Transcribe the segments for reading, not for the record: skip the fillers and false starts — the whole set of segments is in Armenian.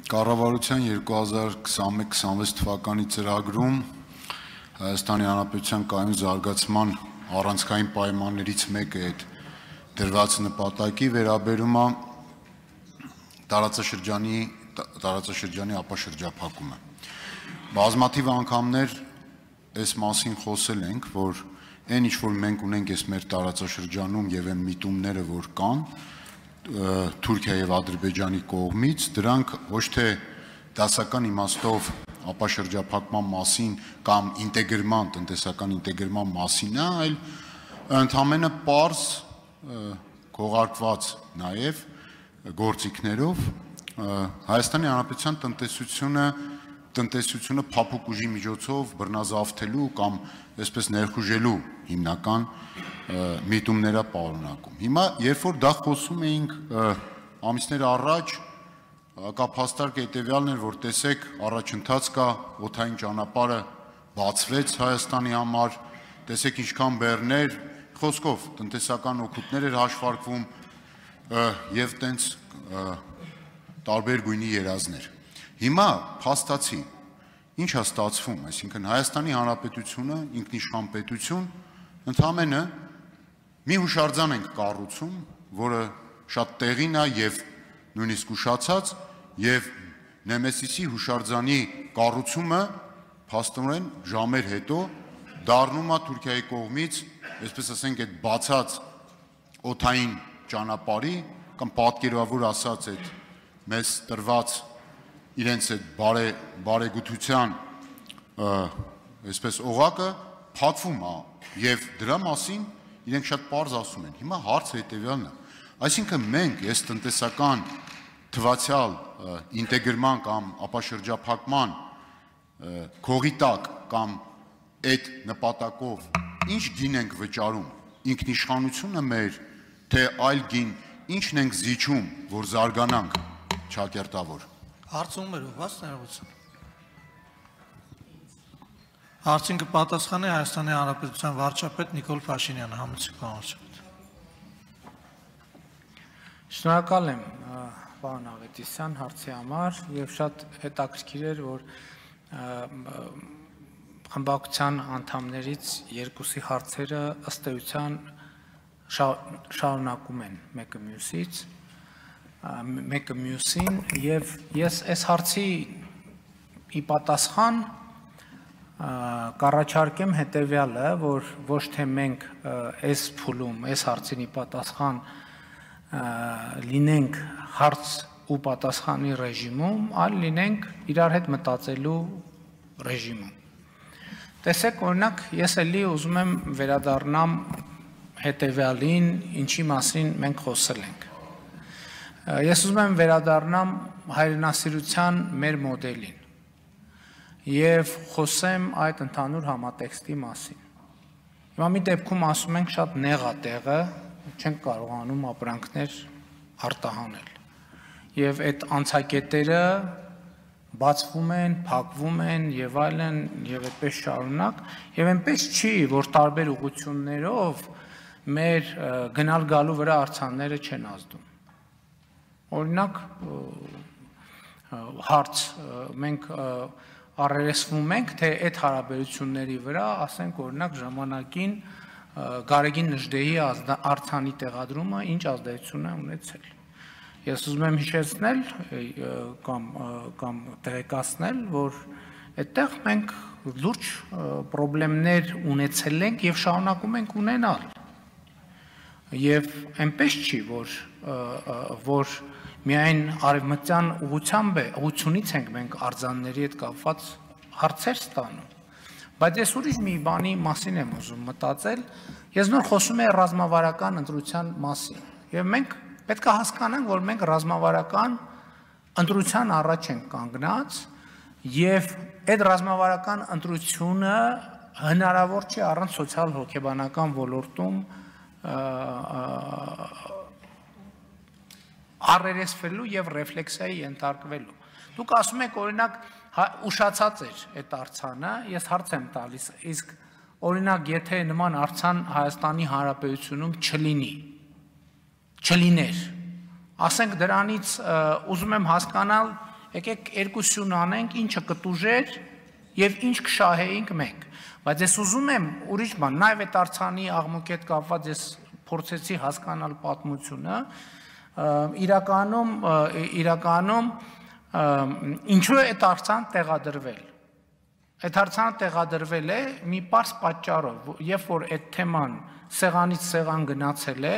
Կառավարության 2021-26 թվականի ծրագրում Հայաստանի Հանրապետության կայուն զարգացման առանցքային պայմաններից մեկը այդ դրված նպատակի վերաբերում է տարածաշրջանի ապաշրջափակումը։ Բազմաթիվ անգամներ այս մասին խոսել ենք, որ այն ինչ որ մենք ունենք այս մեր տարածաշրջանում եւ այն միտումները, որ կան Թուրքիա եւ Ադրբեջանի կողմից, դրանք ոչ թե դասական իմաստով ապաշրջափակման մասին կամ ինտեգրման, տնտեսական ինտեգրման մասին է, այլ ընդհանրապես պարզ քողարկված նաեւ գործիքներով Հայաստանի Հանրապետության տնտեսությունը փափուկ ուժի միջոցով բռնազավթելու կամ այսպես ներխուժելու հիմնական միտումները պարունակում։ Հիմա երբ որ դա խոսում էինք ամիսներ առաջ, հակափաստարկ հետևյալն էր, որ տեսեք առաջընթաց կա, օդային ճանապարհը բացվեց Հայաստանի համար, տեսեք ինչքան բեռներ, խոսքով տնտեսական օգուտներ էր հաշվարկվում եւ տենց տարբեր գույնի երազներ։ Հիմա փաստացի ինչ է ստացվում, այսինքն Հայաստանի Հանրապետությունը ինքնիշխան պետություն ընդհանրապես մի հուշարձան ենք կառուցում, որը շատ տեղին է եւ նույնիսկ ուշացած եւ Նեմեսիսի հուշարձանի կառուցումը փաստորեն ժամեր հետո դառնում է Թուրքիայի կողմից, այսպես ասենք, այդ բացած օդային ճանապարհի կամ պատկերավոր ասած այդ մեզ տրված իրենց այդ բարեգութության այսպես օղակը փակվում է եւ դրա մասին իրենք շատ պարզ ասում են։ Հիմա հարցը հետեւյալն է, այսինքն մենք այս տնտեսական թվացial ինտեգրման կամ ապաշրջափակման քողի տակ կամ այդ նպատակով ինչ գին ենք վճարում, ինքնիշխանությունը մեր, թե այլ գին, ինչն ենք զիջում, որ զարգանանք ճակերտավոր։ Հարցում էր ով ներողություն։ Հարցին կպատասխանի Հայաստանի Հանրապետության վարչապետ Նիկոլ Փաշինյանը, համեցեք պարոն վարչապետ։ Շնորհակալ եմ պարոն Ավետիսյան հարցի համար եւ շատ հետաքրքիր էր, որ խմբակցության անդամներից երկուսի հարցերը ըստ էության շարունակում են մեկը մյուսին եւ ես այս հարցի ի պատասխան կառաջարկեմ հետեւյալը, որ ոչ թե մենք այս փուլում, այս հարցին ի պատասխան լինենք հարց ու պատասխանի ռեժիմում, այլ լինենք իրար հետ մտածելու ռեժիմում։ Տեսեք, օրինակ, ես էլի ուզում եմ վերադառնամ հետեւյալին, ինչի մասին մենք խոսել ենք։ Ես ուզում եմ վերադառնամ հայրենասիրության մեր մոդելին եւ խոսեմ այդ ընդհանուր համատեքստի մասին։ Հիմա մի դեպքում ասում ենք շատ նեղ է տեղը, չենք կարողանում ապրանքներ արտահանել։ Եվ այդ անցակետերը բացվում են, փակվում են եւ այլն եւ այդպես շարունակ, եւ այնպես չի, որ տարբեր ուղղություններով մեր գնալ գալու վրա արձանները չեն ազդում։ Օրինակ հարց մենք առերեսվում ենք, թե այդ հարաբերությունների վրա, ասենք օրինակ ժամանակին Գարեգին Նժդեհի արձանի տեղադրումը ինչ ազդեցություն է ունեցել։ Ես ուզում եմ հիշեցնել կամ տեղեկացնել, որ այդտեղ մենք լուրջ խնդիրներ ունեցել ենք եւ շարունակում ենք ունենալ։ Եվ այնպես չի, որ միայն արևմտյան ուղղությունից ենք մենք արձանների հետ կապված հարցեր ստանում։ Բայց ես ուրիշ մի բանի մասին եմ ուզում մտածել, ես նոր խոսում եմ ռազմավարական ընտրության մասին։ Եվ մենք պետք է հասկանանք, որ մենք ռազմավարական ընտրության առաջ ենք կանգնած եւ այդ ռազմավարական ընտրությունը հնարավոր չի առանց սոցիալ-հոգեբանական ոլորտում առերեսվելու եւ ռեֆլեքսիայի ենթարկվելու։ Դուք ասում եք օրինակ ուշացած էր այդ արձանը, ես հարց եմ տալիս, իսկ օրինակ եթե նման արձան Հայաստանի Հանրապետությունում չլիներ, ասենք դրանից ուզում եմ հասկանալ եկեք երկուսյուն անենք, ինչը կտուժեր եւ ինչ կշահեինք մենք։ Բայց ես ուզում եմ ուրիշ բան, նաեւ այդ Արցանի աղմուկի հետ կապված ես փորձեցի հասկանալ պատմությունը, իրականում ինչու է այդ Արցան տեղադրվել։ Այդ Արցանը տեղադրվել է մի պարզ պատճառով, երբ որ այդ թեման սեղանից սեղան գնացել է,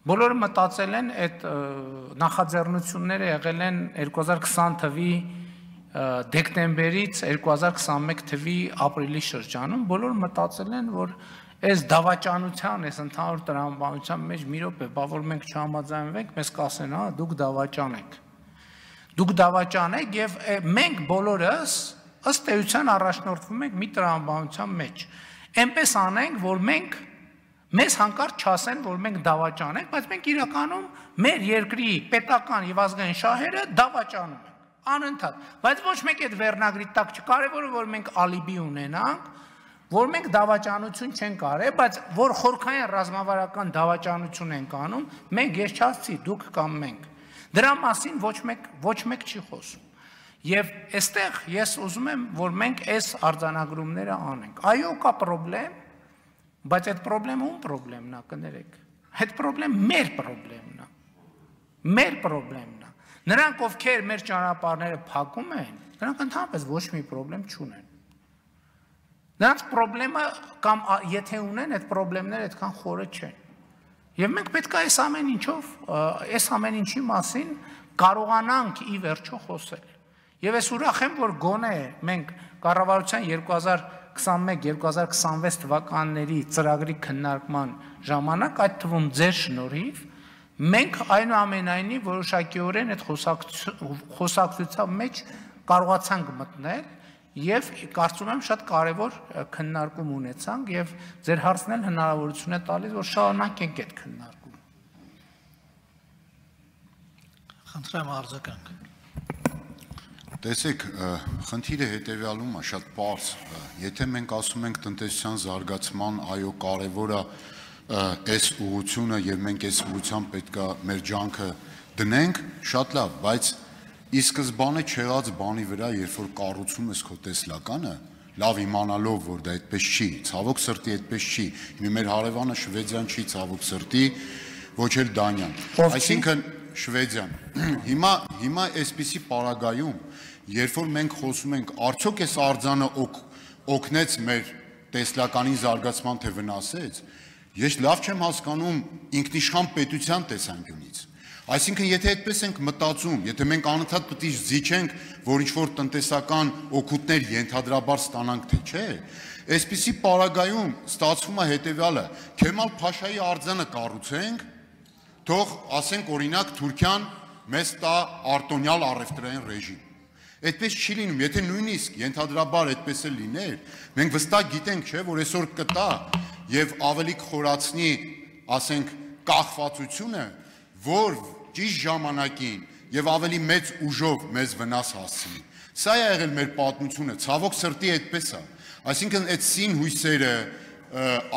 բոլորը մտածել են այդ նախաձեռնությունները եղել են 2020 թվականի դեկտեմբերից 2021 թվականի ապրիլի շրջանում, բոլորը մտածել են, որ այս դավաճանության, այս ընդհանուր տրամաբանության մեջ մի րոպե, բա որ մենք չհամաձայնվենք, մեզ կասեն, հա, դուք դավաճան եք։ Դուք դավաճան եք եւ մենք բոլորս ըստ էության առաջնորդվում ենք մի տրամաբանության մեջ։ Էնպես անենք, որ մեզ հանկարծ չասեն, որ մենք դավաճան ենք, բայց մենք իրականում մեր երկրի պետական եւ ազգային շահերը դավաճանում ենք, անընդհատ։ Բայց ոչ մեկ այդ վերնագրի տակ չկարևորը, որ մենք ալիբի ունենանք, որ մենք դավաճանություն չենք արել, բայց որ խորքային ռազմավարական դավաճանություն ենք անում, մենք ես չասցի, դուք կամ մենք։ Դրա մասին ոչ մեկ չի խոսում։ Եվ այստեղ ես ուզում եմ, որ մենք այս արձանագրումները անենք։ Այո, կա պրոբլեմ, բայց այդ պրոբլեմը ում պրոբլեմն է, կներեք։ Այդ պրոբլեմ մեր պրոբլեմն է։ Մեր պրոբլեմն է։ Նրանք, ովքեր մեր ճանապարհները փակում են, նրանք ընդհանրապես ոչ մի պրոբլեմ չունեն։ Նրանց պրոբլեմը կամ եթե ունեն, այդ պրոբլեմները այդքան խորը չեն։ Եվ մենք պետք է այս ամեն ինչի մասին կարողանանք ի վերջո խոսել։ Եվ ես ուրախ եմ, որ գոնե մենք կառավարության 2021-2026 թվականների ծրագրի քննարկման ժամանակ, այդ թվում ձեր շնորհիվ, մենք այնուամենայնիվ որոշակիորեն այդ խոսակցության մեջ կարողացանք մտնել եւ կարծում եմ շատ կարեւոր քննարկում ունեցանք եւ ձեր հարցն էլ հնարավորություն է տալիս, որ շարունակենք այդ քննարկումը։ Խնդրեմ արձագանք։ Տեսեք, խնդիրը հետևյալում է շատ պարզ, եթե մենք ասում ենք տնտեսության զարգացման, այո, կարևոր է այս ուղղությունը եւ մենք այս ուղղությամբ պետք է մեր ջանքը դնենք, շատ լավ, բայց ի սկզբանե չեղած բանի վրա, երբ որ կառուցում ես քո տեսլականը, լավ իմանալով, որ դա այդպես չի, ցավոք սրտի այդպես չի, մեր հարևանը Շվեդիան չի, ցավոք սրտի, ոչ էլ Դանիան, այսինքն Շվեդիան։ Հիմա այսպիսի պարագայում, երբ որ մենք խոսում ենք, արդյոք այս արձանը օգնեց մեր տեսլականի զարգացման, թե վնասեց, ես լավ չեմ հասկանում ինքնիշխան պետության տեսանկյունից։ Այսինքն, եթե այդպես ենք մտածում, եթե մենք անընդհատ պետք է զիջենք, որ ինչ-որ տնտեսական օգուտներ ենթադրաբար ստանանք, թե չէ, այսպիսի պարագայում ստացվում է հետևյալը, Քեմալ Փաշայի արձանը կառուցենք, թող ասենք օրինակ Թուրքիան մեզ տա արտոնյալ առևտրային ռեժիմ։ Այդպես չի լինում, եթե նույնիսկ ենթադրաբար այդպես էլ լիներ, մենք վստահ գիտենք, չէ, որ այսօր կտա եւ ավելի կխորացնի, ասենք, կախվածությունը, որ ճիշտ ժամանակին եւ ավելի մեծ ուժով մեզ վնաս հասցնի։ Սա է եղել մեր պատմությունը, ցավոք սրտի այդպես է։ Այսինքն այդ սին հույսերը,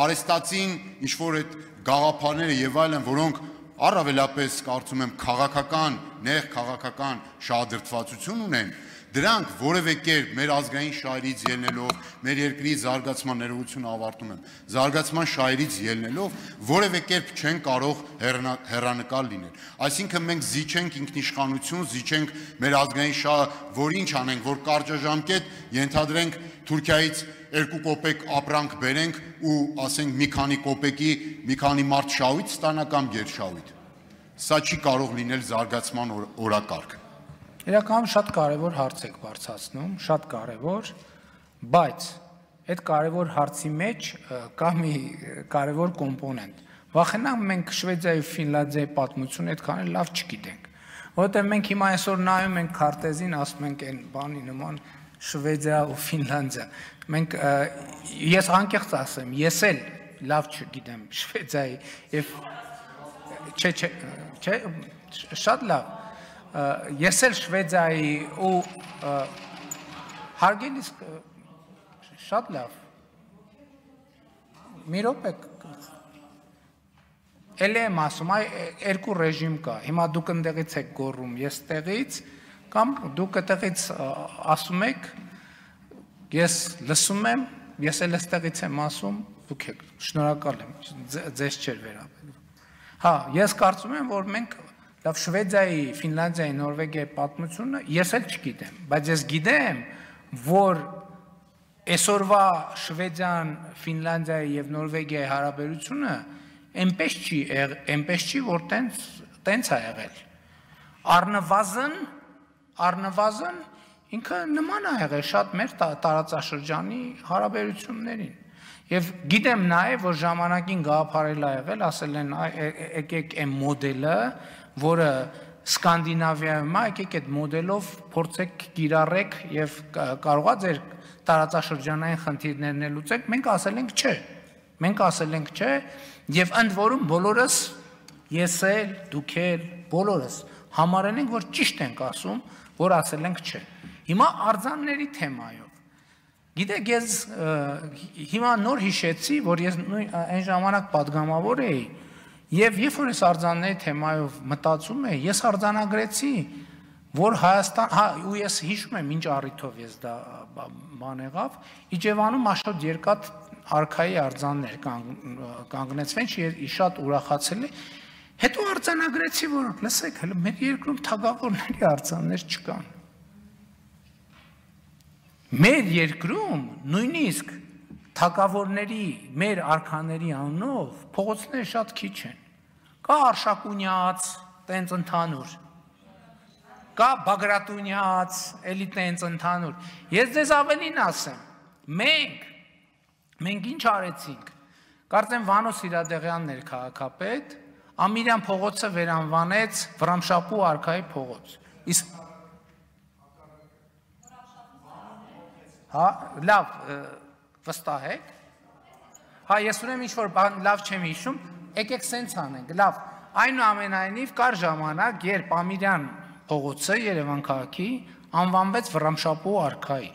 արեստացին ինչ որ այդ գաղափարները եւ այլն, որոնք առավելապես կարծում եմ քաղաքական, նեղ քաղաքական շահադրթվածություն ունեն, դրանք որևէ կերպ մեր ազգային շահերից ելնելով, մեր երկրի զարգացման ներողություն ավարտում եմ, զարգացման շահերից ելնելով, որևէ կերպ չեն կարող հեռանկար լինել։ Այսինքն մենք զիջենք ինքնիշխանություն, զիջենք մեր ազգային շահը, որ ինչ անենք, որ կարճաժամկետ ենթադրենք Թուրքիայից 2 կոպեկ ապրանք բերենք ու ասենք մի քանի կոպեկի մի քանի մարդ շահույթ ստանա կամ գերշահույթ։ Սա չի կարող լինել զարգացման օրակարգ։ Իրականում շատ կարևոր հարց եք բարձրացնում, շատ կարևոր, բայց այդ կարևոր հարցի մեջ կա մի կարևոր կոմպոնենտ։ Վախենամ մենք Շվեդիայի ու Ֆինլանդիայի պատմությունը այդքան էլ լավ չգիտենք, որովհետև մենք հիմա այսօր նայում ենք քարտեզին, ասում ենք այն բանի նման Շվեդիա ու Ֆինլանդիա։ Մենք ես անկեղծ ասեմ, ես էլ լավ չգիտեմ Շվեդիայի եւ չէ, շատ լավ։ Ես էլ Շվեդիայի ու հարգելիս շատ լավ։ Մի րոպե էլ եմ ասում, այ երկու ռեժիմ կա։ Հիմա դուք ընդեղից եք գոռում, ես տեղից, Կամ դուք այդտեղից ասում եք, ես լսում եմ, ես էլ այստեղից եմ ասում, դուք եք, շնորհակալ եմ, ձեզ չէր վերաբերվում։ Հա, ես կարծում եմ, որ մենք լավ Շվեդիայի, Ֆինլանդիայի, Նորվեգիայի պատմությունը ես էլ չգիտեմ, բայց ես գիտեմ, որ այսօրվա Շվեդիան, Ֆինլանդիայի եւ Նորվեգիայի հարաբերությունը այնպես չի, որ տենց է եղել։ Առնվազն ինքը նման է եղել շատ մեր տարածաշրջանի հարաբերություններին։ Եվ գիտեմ նաև, որ ժամանակին գաղափարել է եղել, ասել են եկեք այն մոդելը, որը Սկանդինավիայում է, եկեք այդ մոդելով փորձեք կիրառեք եւ կարողա ձեր տարածաշրջանային խնդիրներն լուծեք, մենք ասել ենք չէ։ Մենք ասել ենք չէ, եւ ընդ որում բոլորս ես էլ, դուք էլ, բոլորս համարել ենք, որ ճիշտ ենք ասում, որ ասել ենք չէ։ Հիմա արձանների թեմայով Գիտեք, ես հիմա նոր հիշեցի, որ ես այն ժամանակ պատգամավոր էի, եւ երբ որ ես արձանների թեմայով մտածում էի, ես արձանագրեցի, որ Հայաստան, ու ես հիշում եմ ինչ առիթով ես դա բան եղավ, Իջևանում աշոտ երկաթ արքայի արձաններ կանգնեցվեն, շատ ուրախացել էի, հետո արձանագրեցի, որ լսեք, հələ մեր երկրում թագավորների արձաններ չկան։ Մեր երկրում նույնիսկ թագավորների, մեր արքաների անունով փողոցները շատ քիչ են։ Կա Արշակունյաց, տենց ընդհանուր։ Կա Բագրատունյաց, էլի տենց ընդհանուր։ Ես ձեզ ավելին ասեմ, մենք ինչ արեցինք։ Կարծեմ Վանո Սիրադեղյանն էր քաղաքապետ, Ամիրյան փողոցը վերանվանեց Վռամշապուհ արքայի փողոց։ Իսկ հա, լավ, վստահ եք։ Հա, ես ուրեմն ինչ-որ բան լավ չեմ հիշում, եկեք սենց անենք, լավ, այնուամենայնիվ կար ժամանակ, երբ Ամիրյան փողոցը Երևան քաղաքի անվանվեց Վռամշապուհ արքայի։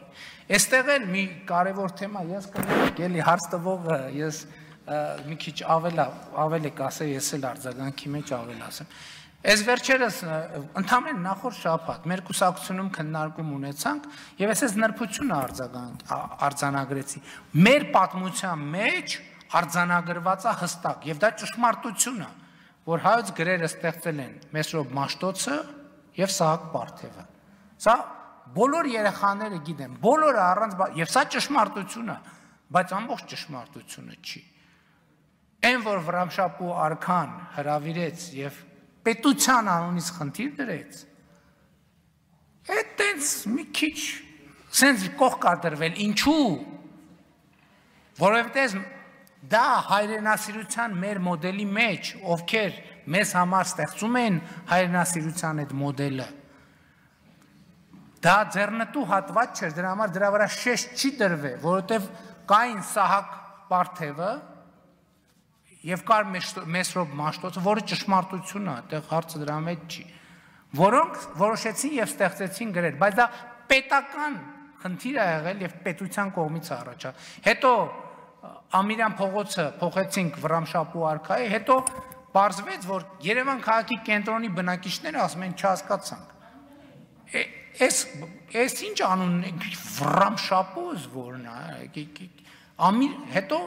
Այստեղ էլ մի կարևոր թեմա, ես կներեք, էլի հարց տվողը, ես մի քիչ ավել եք ասել, ես էլ արձագանքի մեջ ավել ասեմ։ Այս վերջերս ընդամենը նախորդ շաբաթ մեր կուսակցությունում քննարկում ունեցանք եւ ես նրբությունը արձանագրեցի։ Մեր պատմության մեջ արձանագրված է հստակ եւ դա ճշմարտություն է, որ հայոց գրերը ստեղծել են Մեսրոպ Մաշտոցը եւ Սահակ Պարթևը։ Սա բոլոր երեխաները գիտեն, բոլորը առանց եւ սա ճշմարտություն է, բայց ամբողջ ճշմարտությունը չի։ Այն որ Վռամշապուհ արքան հրավիրեց եւ պետության անունից խնդիր դրեց, այդ տենց մի քիչ սենց կողք ադրվել, ինչու, որովհետև դա հայրենասիրության մեր մոդելի մեջ, ովքեր մեզ համար ստեղծում են հայրենասիրության այդ մոդելը, դա ձեռնտու հատված չէր, դրա համար դրա վրա շեշտ չի դրվել, որովհետև կային Սահակ Պարթևը, Եվ կար Մեսրոպ Մաշտոցը, որը ճշմարտություն է, այդտեղ հարցը դրա մեջ չի, որոնք որոշեցին եւ ստեղծեցին գրեր, բայց դա պետական խնդիր է եղել եւ պետության կողմից առաջա։ Հետո Ամիրյան փողոցը փոխեցինք Վռամշապուհ արքայի, հետո պարզվեց, որ Երևան քաղաքի կենտրոնի բնակիչները ասում են չհասկացանք։ Էս ինչ անուն Վռամշապուհ որն է, հետո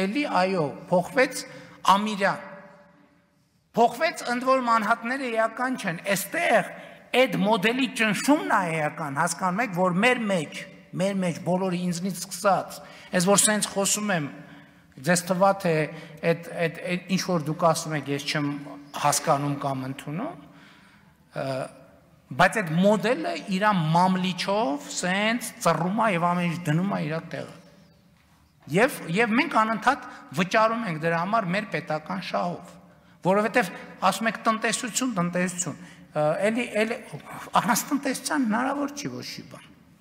էլի այո, փոխվեց Ամիրյան, փոխվեց ընդ որում անհատները էական չեն, այստեղ այդ մոդելի ճնշումն է էական, հասկանում եք, որ մեր մեջ բոլորի ինձնից սկսած, այս որ սենց խոսում եմ, ձեզ թվա թե այդ ինչ որ դուք ասում եք, ես չեմ հասկանում կամ ընդունում, բայց այդ մոդելը իր մամլիչով սենց ծռում է եւ ամեն ինչ դնում է իր տեղը։ Եվ մենք անընդհատ վճարում ենք դրա համար մեր պետական շահով, որովհետև ասում եք տնտեսություն, էլի առանց տնտեսության հնարավոր չի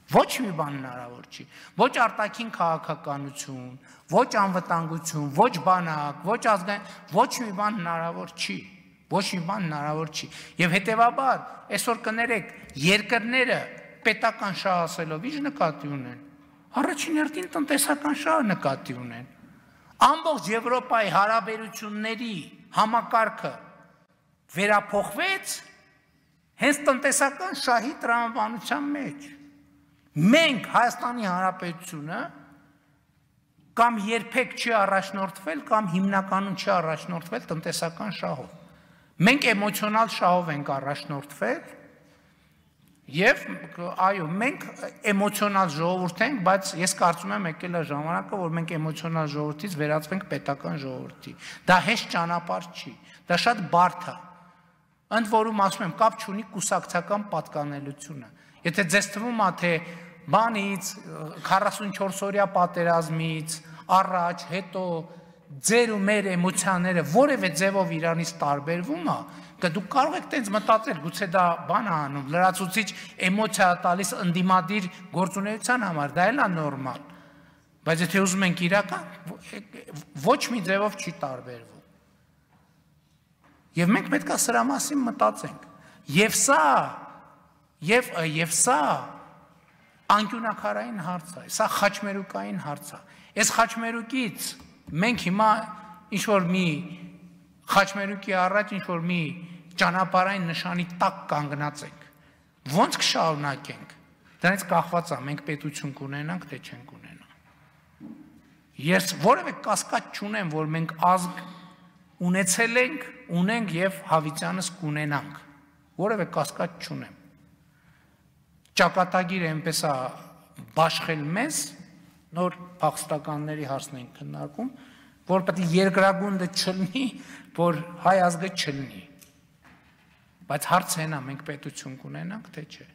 ոչ մի բան հնարավոր չի, ոչ արտաքին քաղաքականություն, ոչ անվտանգություն, ոչ բանակ, ոչ ազգային, ոչ մի բան հնարավոր չի, եւ հետեւաբար այսօր կներեք երկրները պետական շահ ասելով ինչ նկատի ունեն, առաջին հերթին տնտեսական շահը նկատի ունեն։ Ամբողջ Եվրոպայի հարաբերությունների համակարգը վերափոխվեց հենց տնտեսական շահի տրամաբանության մեջ։ Մենք Հայաստանի Հանրապետությունը կամ երբեք չի առաջնորդվել կամ հիմնականում չի առաջնորդվել տնտեսական շահով։ Մենք էմոցիոնալ շահով ենք առաջնորդվել եւ այո, մենք էմոցիոնալ ժողովուրդ ենք, բայց ես կարծում եմ եկել է ժամանակը, որ մենք էմոցիոնալ ժողովրդից վերածվենք պետական ժողովրդի։ Դա հեշտ ճանապարհ չի, դա շատ բարդ է։ Ընդ որում ասում եմ, կապ չունի կուսակցական պատկանելությունը։ Եթե ձեզ թվում է, թե բանից 44-օրյա պատերազմից առաջ, հետո ձեր ու մեր էմոցիաները որևէ ձևով իրանից տարբերվում է, դուք կարող եք տենց մտածել, գուցե դա բան է անում, լրացուցիչ էմոցիա տալիս ընդդիմադիր գործունեության համար, դա էլ է նորմալ։ Բայց եթե ուզում ենք իրական, ոչ մի ձևով չի տարբերվում։ Եվ մենք պետք է սրա մասին մտածենք։ Եվ սա անկյունակարային հարց է, սա խաչմերուկային հարց է։ Այս խաչմերուկից մենք հիմա ինչ-որ մի խաչմերուկի առաջ ինչ-որ մի ճանապարհային նշանի տակ կանգնած ենք։ Ոնց կշարունակենք։ Դրանից կախված է, մենք պետություն կունենանք, թե չենք ունենա։ Ես որևէ կասկած չունեմ, որ մենք ազգ ունեցել ենք, ունենք եւ հավիտյանս կունենանք։ Որևէ կասկած չունեմ։ Ճակատագիրը այնպես է բաշխել մեզ, նոր փախստականների հարցն ենք քննարկում, որ պետք է երկրագունդը չլինի, որ հայ ազգը չլինի։ Բայց հարցը այն է, մենք պետություն կունենանք, թե չէ։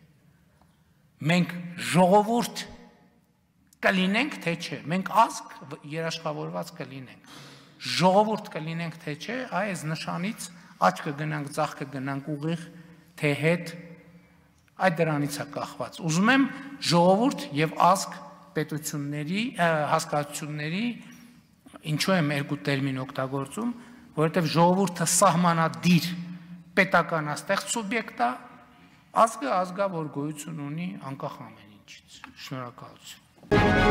Մենք ժողովուրդ կլինենք, թե չէ։ Մենք ազգ երաշխավորված կլինենք։ Ժողովուրդ կլինենք, թե չէ, այս նշանից աճ կգնանք, ձախ կգնանք ուղիղ, թե հետ, այդ դրանից է կախված։ Ուզում եմ ժողովուրդ եւ ազգ պետությունների, հասկացությունների, ինչու եմ երկու տերմին օգտագործում, որովհետեւ ժողովուրդը սահմանադիր պետականաստեղծ սուբյեկտ է, ազգը ազգա, որ գոյություն ունի անկախ ամեն ինչից։ Շնորհակալություն։